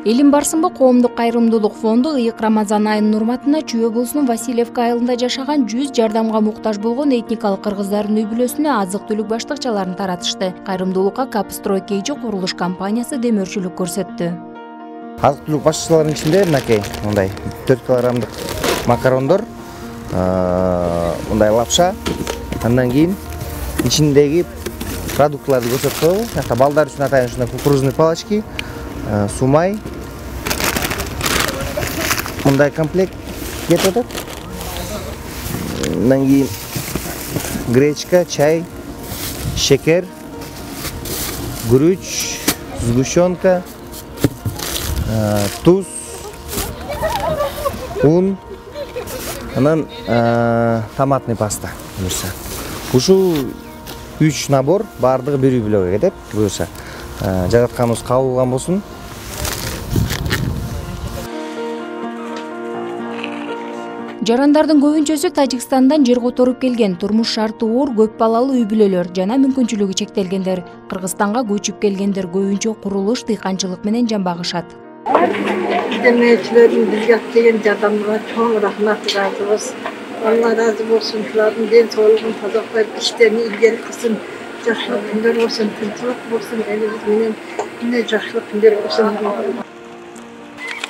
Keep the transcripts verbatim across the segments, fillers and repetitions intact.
Элим барсынбы коомдук кайрымдуулук фонду ыйык Рамазан айынын урматына Чүй облусунун Васильевка айылында жашаган жүз жардамга муктаж болгон этникалык кыргыздардын үй бүлөсүнө азык-түлүк баштыкчаларын таратышты. Кайрымдуулукка Капстрой Кейжи курулуш компаниясы демөөрчүлүк көрсөттү. Азык-түлүк баштыкчаларынын ичинде мынакей мындай төрт килограммдык макарондор, мындай лапша, андан кийин ичиндеги продуктларды көрсөтүп коелу. Жакта балдар үчүн атайын ушундай кукурузный палочки, сумай, мындай комплект кетип атат. Андан кийин гречка, чай, шекер, гүрүч, сгущенка, туз, ун, анан томатный паста буюрса. Ушул үч набор баардыгы бир үй бүлөгө кетет. Буюрса жаратканыбыз кабыл кылган болсун. Жарандардын көбүнчөсү Тажикстандан жер которуп келген, турмуш шарты оор көп балалуу үй бүлөлөр жана мүмкүнчүлүгү чектелгендер. Кыргызстанга көчүп келгендер көбүнчө курулуш, дыйканчылык менен жамбагышат. Демечилердин бизге келген жардамына чоң рахмат жазабыз. Allah razı olsun, şuların den soğuluğun tazaklayıp işlerini ilgili kılsın. Жақсылық күндер болсын, тынчылык болсын, элибиз менен мына жақсылық күндер болсын.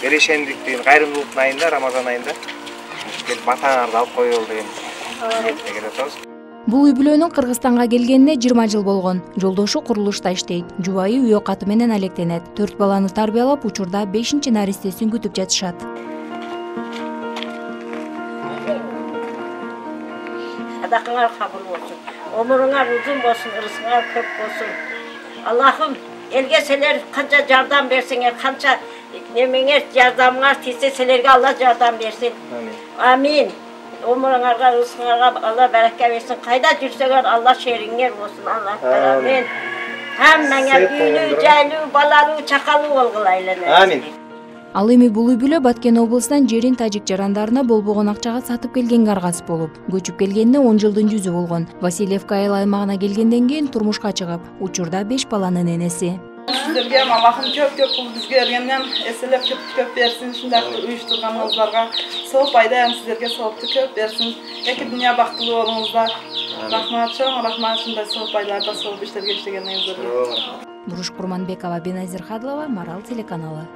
Берешендиктин кайрымдуулуктун айында, Рамазан айында келип батаңарды алып коелу деген ниетке келип атабыз. Бул үй бүлөнүн Кыргызстанга келгенине жыйырма жыл болгон. Жолдошу курулушта иштейт. Жубайы үй окаты менен алектенет. төрт баланы тарбиялап, учурда бешинчи наристесин күтүп жатышат. Sadakыңар kabul olsun. Ömrüңar uzun olsun, ırısыңar köp olsun. Allah'ım elgeseler kança yardım versinler, kança nemeğer yardımlar teyseselerge Allah yardım versin. Amin. Amin. Ömrüңarga, ırısыңarga Allah bereket versin. Kayda жүрсеңер Allah şeringer olsun. Allah amin. Hammaňa büyülü, jaylı, balalı, çakalı olgulaylar. Amin. Ал эми бул үй бүлө Баткен облусунан жерин тажик жарандарына болбогон акчага сатып келгенге аргасып болуп, көчүп келгенине он жылдын жүзү болгон. Васильевка айыл аймагына келгенден кийин турмушка чыгып, учурда беш баланын энеси. Sizlerge Allah'ım köp köp bul bizge ergenden eselep köp köp versin. Şundaklı uyuşturganınızlarga soğuk aydayan sizlerge soğuktu köp versin. Eki dünya baktılı olunuzlar. Rahmat çoğun, rahmat şunday soğuk aylarda soğuk işlerge işlegenleriniz. Буруш Курманбекова, Беназир Хадлова, Марал телеканалы.